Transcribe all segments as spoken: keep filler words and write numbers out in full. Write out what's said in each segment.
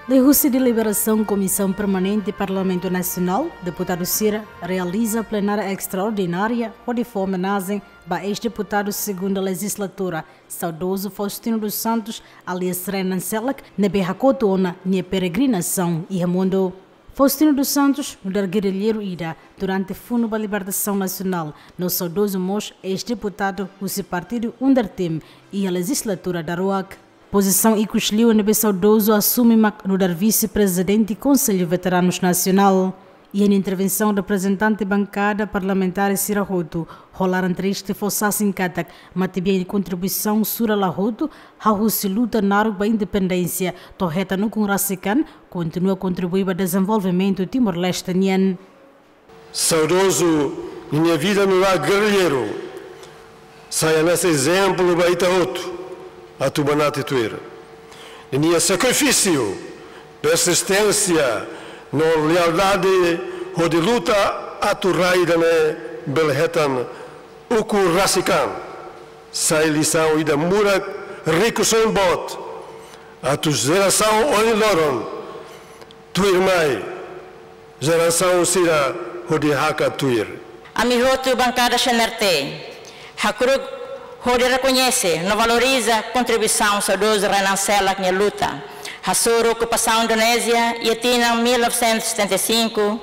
Liuhusi deliberasaun Komisaun Permanente Parlamentu Nasionál, deputadu sira realiza plenária estraordinária hodi fó omenajen ba eis-deputadu segunda lejizlatura, saudozu Faustino dos Santos, alias Renan Selak, ne'ebé hakotu ona nia peregrinasaun iha mundu. Faustino dos Santos nu'udar gerrilleiru ida, durante funu ba libertasaun nasionál, no saudozu mós eis-deputadu husi partidu UNDERTIM iha lejizlatura daruak. Pozisaun ikus liu ne'ebé saudozu asume mak nu'udar vise-prezidente Konsellu Veteranus Nasionál. Iha nia intervensaun, reprezentante bankada parlamentár sira hotu ho laran triste fó sasin katak matebian nia kontribuisaun sura la hotu, hahú husi luta naruk ba independénsia to'o hetan ukun rasik an, kontinua kontribui ba dezenvolvimentu Timor-Leste nian. Saudozu ninia vida nu'udar gerrilleiru sai hanesan ezemplu ba ita hotu atu banati tuir. Ninia sakrifísiu, persisténsia no lealdade hodi luta atu rai ida-ne'e bele hetan ukun rasik an sai lisaun ida murak, rikusoin boot atu jerasaun ohin loron tuirmai, jerasaun sira hodi hakat tuir. Ami hotu bankada C N R T hakru'uk hodi rekoñese no valoriza kontribuisaun saudozu Renan Selak nia luta, hasoru okupasaun Indonézia iha tinan mil novecentos e setenta e cinco,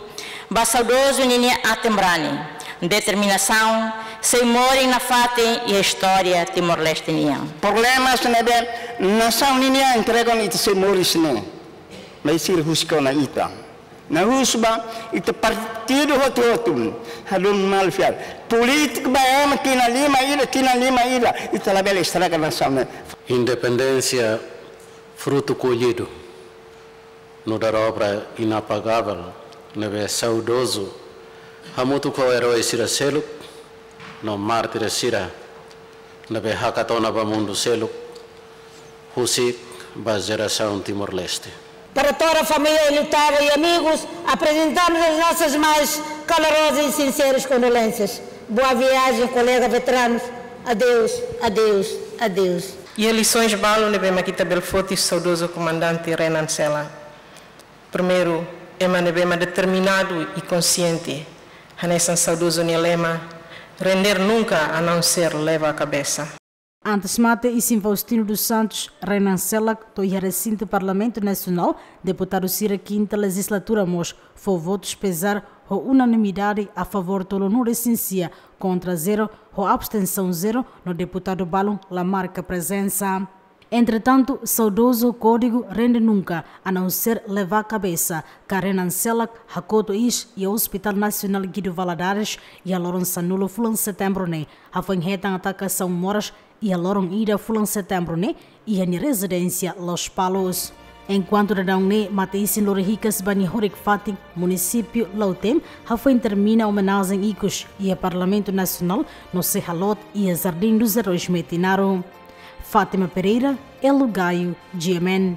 ba saudozu ninia aten-brani, determinasaun, sei moris nafatin iha istória Timor-Leste nian. Problemas ne'ebé nasaun ninian entrega ona ita sei moris ne'e, maibé sira husik ona ita. Na'in husu ba ita partidu hotu-hotu, hadomi malu fiar. Polítika ba ema tinan lima ida, tinan lima ida, ita labele estraga nasaun ne'e. Independénsia frutu kollidu nu'udar obra inapagável ne'ebé saudozu hamutuk ho erói sira seluk no mártir sira ne'ebé hakat ona ba mundu seluk, husik ba jerasaun Timor-Leste. Para toda a família enlutada e amigos, apresentamos as nossas mais calorosas e sinceras condolências. Boa viagem, colega veteranos. Adeus, adeus, adeus. Iha lisaun balu ne'ebé mak ita bele foti saudozu komandante Renan Selak. Primeiru, ema ne'ebé mak determinadu e konsiente, hanesan saudozu nia lema, "Render nunca, a não ser levar a cabeça." Antes mate isin Faustino dos Santos, Renan Selak to'o iha resintu Parlamentu Nasionál, deputadu sira kinta lejizlatura mós fó votus pezár ho unanimidade a favór tolunulu-resin-sia, kontra zero, ho abstensaun zero, no deputadu balun la marka prezensa. Entretantu, saudozu kódigu "Rende nunca, a não ser levar cabeça" ka Renan Selak hakotu iis iha Hospital Nasionál Guido Valadares iha loron sanulu fulan Setembru ne'e, hafoin hetan atakasaun moras iha loron ida fulan Setembru ne'e iha nia rezidénsia Lospalos. Enkuantu daudaun ne'e mate isin lori hikas ba nia horik-fatin, munisípiu Lautém hafoin termina omenajen ikus iha Parlamentu Nasionál no sei haloot iha Jardim dos Heróis Metinaro. Fátima Pereira, Elo Gaio, G M N.